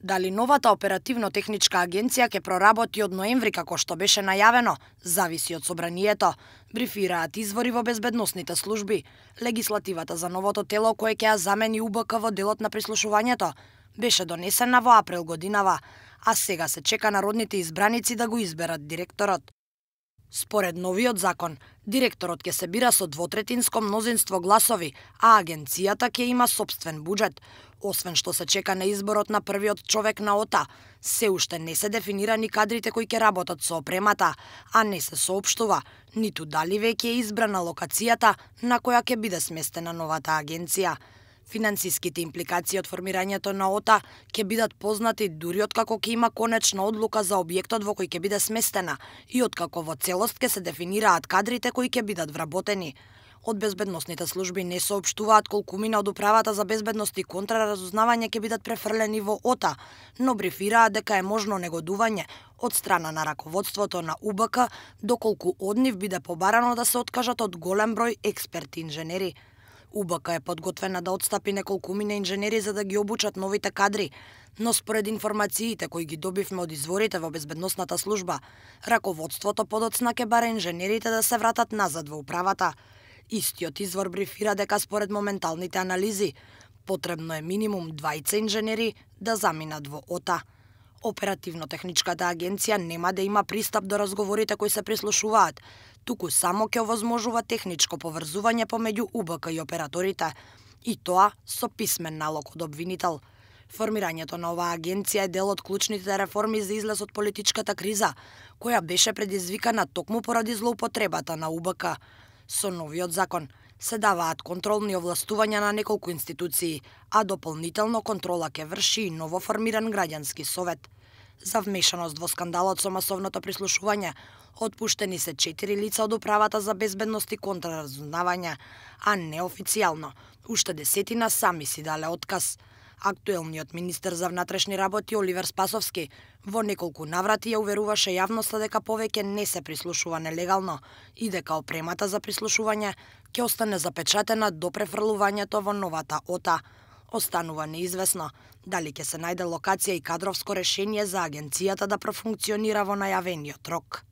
Дали новата оперативно-техничка агенција ќе проработи од ноември како што беше најавено, зависи од собранието, брифираат извори во безбедносните служби. Легислативата за новото тело кое ќе ја замени УБК во делот на прислушувањето беше донесена во април годинава, а сега се чека народните избраници да го изберат директорот. Според новиот закон, директорот ќе се бира со двотретинско мнозинство гласови, а агенцијата ќе има сопствен буџет. Освен што се чека на изборот на првиот човек на ОТА, се уште не се дефинирани кадрите кои ќе работат со опремата, а не се соопштува ниту дали веќе е избрана локацијата на која ќе биде сместена новата агенција. Финансиските импликации од формирањето на ОТА ќе бидат познати дури откако ќе има конечна одлука за објектот во кој ќе биде сместена и откако во целост ќе се дефинираат кадрите кои ќе бидат вработени. Од безбедносните служби не соопштуваат колку мина од управата за безбедност и контраразузнавање ќе бидат префрлени во ОТА, но брифираат дека е можно негодување од страна на раководството на УБК доколку од нив биде побарано да се откажат од голем број експерти инженери. УБК е подготвена да отстапи неколкумина инженери за да ги обучат новите кадри, но според информациите кои ги добивме од изворите во безбедносната служба, раководството подоцна ќе бара инженерите да се вратат назад во управата. Истиот извор брифира дека според моменталните анализи, потребно е минимум 20 инженери да заминат во ОТА. Оперативно-техничката агенција нема да има пристап до разговорите кои се прислушуваат, туку само ќе овозможува техничко поврзување помеѓу УБК и операторите, и тоа со писмен налог од обвинител. Формирањето на оваа агенција е дел од клучните реформи за излез од политичката криза, која беше предизвикана токму поради злоупотребата на УБК. Со новиот закон се даваат контролни овластувања на неколку институции, а дополнително контрола ќе врши и новоформиран граѓански совет. За вмешаност во скандалот со масовното прислушување, отпуштени се 4 лица од управата за безбедност и контраразузнавање, а неофицијално уште десетина сами си дале отказ. Актуелниот министер за внатрешни работи Оливер Спасовски во неколку наврати ја уверуваше јавноста дека повеќе не се прислушува нелегално и дека опремата за прислушување ќе остане запечатена до префрлувањето во новата ОТА. Останува неизвестно дали ќе се најде локација и кадровско решение за агенцијата да профункционира во најавениот рок.